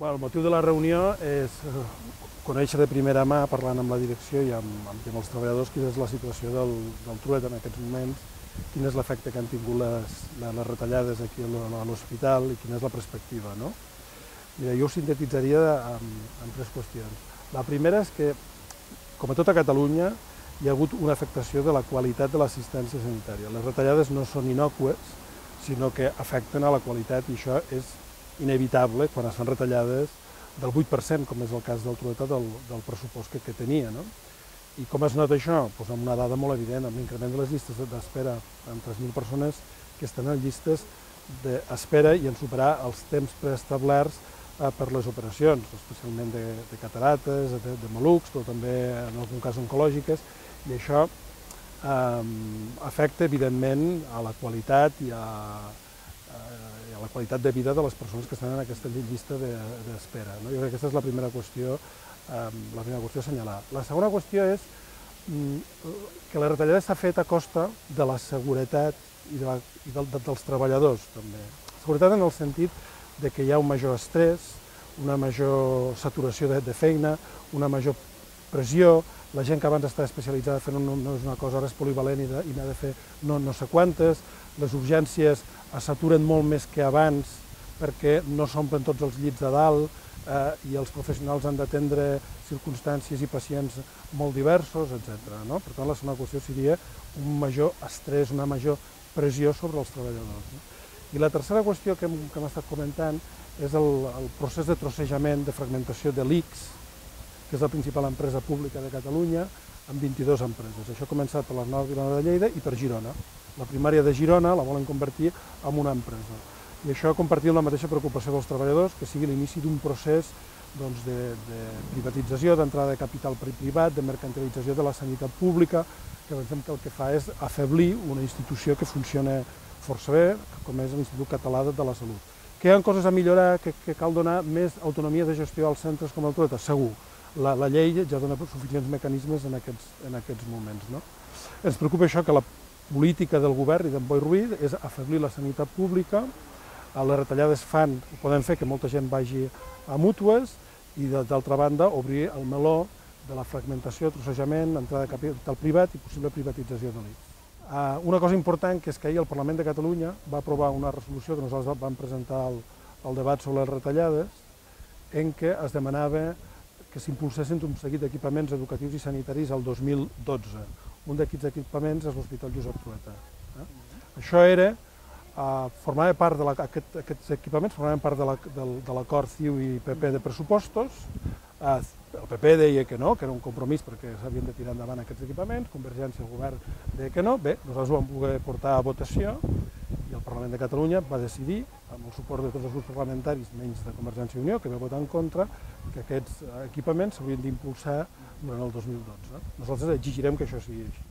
El motiu de la reunió és conèixer de primera mà, parlant amb la direcció i amb els treballadors, quina és la situació del truet en aquests moments, quin és l'efecte que han tingut les retallades aquí a l'hospital i quina és la perspectiva. No? Jo ho sintetitzaria en tres qüestions. La primera és que, com a tota Catalunya, hi ha hagut una afectació de la qualitat de l'assistència sanitària. Les retallades no són innòcues, sinó que afecten a la qualitat i això és inevitable quan es fan retallades del 8%, com és el cas del trueta, del pressupost que tenia. No? I com es nota això? Doncs amb una dada molt evident, amb l'increment de les llistes d'espera, amb 3.000 persones que estan en llistes d'espera i en superar els temps preestablerts per les operacions, especialment de catarates, de malucs, però també en algun cas oncològiques, i això afecta evidentment a la qualitat i a la qualitat de vida de les persones que estan en aquesta llista d'espera. Jo crec que aquesta és la primera qüestió a assenyalar. La segona qüestió és que la retallada s'ha fet a costa de la seguretat i dels treballadors, també. Seguretat en el sentit que hi ha un major estrès, una major saturació de feina, una major pressió, la gent que abans estava especialitzada fent no és una cosa, ara és polivalent i n'ha de fer no sé quantes, les urgències es saturen molt més que abans perquè no s'omplen tots els llits a dalt i els professionals han d'atendre circumstàncies i pacients molt diversos, etc. Per tant, la segona qüestió seria un major estrès, una major pressió sobre els treballadors. I la tercera qüestió que hem estat comentant és el procés de trossejament, de fragmentació de l'ICS, que és la principal empresa pública de Catalunya, amb 22 empreses. Això ha començat per la Nova Vilanova de Lleida i per Girona. La primària de Girona la volen convertir en una empresa. I això compartint la mateixa preocupació dels treballadors, que sigui l'inici d'un procés de privatització, d'entrada de capital privat, de mercantilització de la sanitat pública, que pensem que el que fa és afeblir una institució que funciona força bé, com és l'Institut Català de la Salut. Que hi ha coses a millorar, que cal donar més autonomia de gestió als centres com el trueta? Segur. La llei ja dona suficients mecanismes en aquests moments. Ens preocupa això, que la política del govern i d'en Boi Ruiz és afeblir la sanitat pública, les retallades poden fer que molta gent vagi a mútues i, d'altra banda, obrir el meló de la fragmentació, trossejament, entrada de capital privat i possible privatització de l'ICS. Una cosa important que és que ahir el Parlament de Catalunya va aprovar una resolució que nosaltres vam presentar al debat sobre les retallades, en què es demanava que s'impulsessin un seguit d'equipaments educatius i sanitaris el 2012. Un d'aquests equipaments és l'Hospital Josep Trueta. Això aquests equipaments formaven part de l'acord CiU i PP de pressupostos. El PP deia que no, que era un compromís perquè s'havien de tirar endavant aquests equipaments, Convergència i el govern deia que no. Bé, nosaltres ho vam poder portar a votació i el Parlament de Catalunya va decidir, amb el suport de tots els grups parlamentaris, menys de Convergència i Unió, que va votar en contra, que aquests equipaments s'haurien d'impulsar durant el 2012. Nosaltres exigirem que això sigui així.